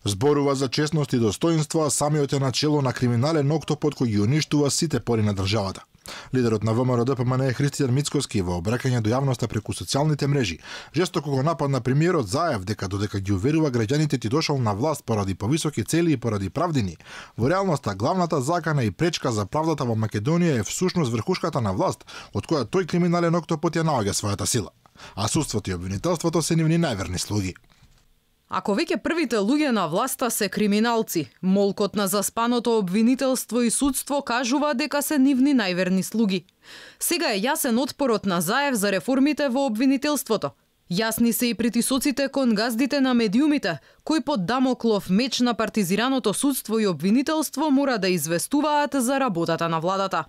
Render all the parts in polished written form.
Зборува за честност и достоинство, а самиот е начело на криминален октопод кој ги уништува сите пори на државата. Лидерот на ВМРО-ДПМН Христијан Мицкоски во обраќање до јавноста преку социјалните мрежи жестоко го нападна премиерот Заев дека додека ги уверува граѓаните ти дошол на власт поради повисоки цели и поради правдини. Во реалноста главната закана и пречка за правдата во Македонија е всушност врхушката на власт, од која тој криминален октопод ја наоѓа својата сила. А судството и обвинителството се нивни најверни слуги. Ако веќе првите луѓе на власта се криминалци, молкот на заспаното обвинителство и судство кажува дека се нивни најверни слуги. Сега е јасен отпорот на Заев за реформите во обвинителството. Јасни се и притисоците кон газдите на медиумите, кои под Дамоклов меч на партизираното судство и обвинителство мора да известуваат за работата на владата.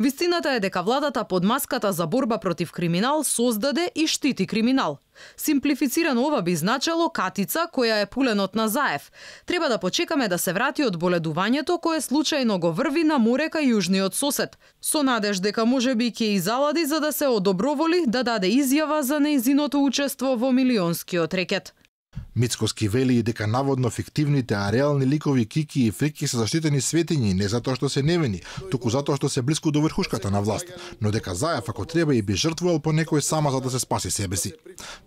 Вистината е дека владата под маската за борба против криминал создаде и штити криминал. Симплифицирано ова би значело катица која е пуленот на Заев. Треба да почекаме да се врати од боледувањето кое случајно го врви на море кај јужниот сосед, со надеж дека можеби ќе изалади за да се одоброволи да даде изјава за нејзиното учество во милионскиот рекет. Мицкоски вели и дека наводно фиктивните, а реални ликови Кики и Фрики се заштитени светињи не затоа што се невини, туку затоа што се блиску до врхушката на власт, но дека Заев ако треба и би жртвувал по некој само за да се спаси себе си.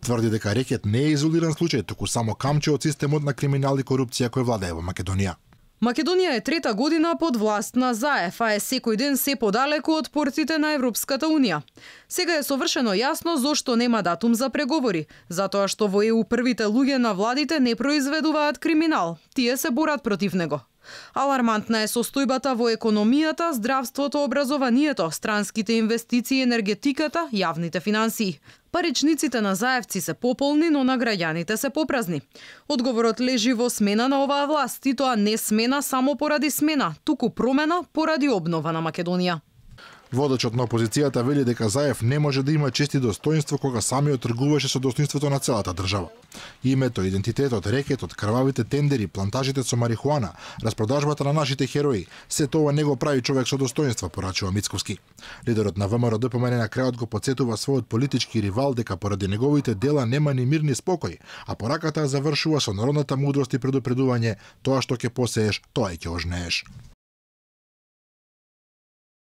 Тврди дека рекет не е изолиран случај, туку само камче од системот на криминал и корупција кој владее во Македонија. Македонија е трета година под власт на Заев, а е секој ден се подалеку од портите на Европската Унија. Сега е совршено јасно зошто нема датум за преговори, затоа што во ЕУ првите луѓе на владите не произведуваат криминал, тие се борат против него. Алармантна е состојбата во економијата, здравството, образованието, странските инвестиции, енергетиката, јавните финансии. Паричниците на заевци се пополни, но на граѓаните се попразни. Одговорот лежи во смена на оваа власт, и тоа не смена само поради смена, туку промена поради обнова на Македонија. Водачот на опозицијата вели дека Заев не може да има чест и достоинство кога самиот тргуваше со достоинството на целата држава. Името, идентитетот, рекетот, крвавите тендери, плантажите со марихуана, распродажбата на нашите херои, се тоа не го прави човек со достоинство, порачува Мицковски. Лидерот на ВМРО-ДПМН на крајот го потсетува својот политички ривал дека поради неговите дела нема ни мир ни спокој, а пораката завршува со народната мудрост и предупредување: тоа што ќе посееш, тоа и ќе ожнееш.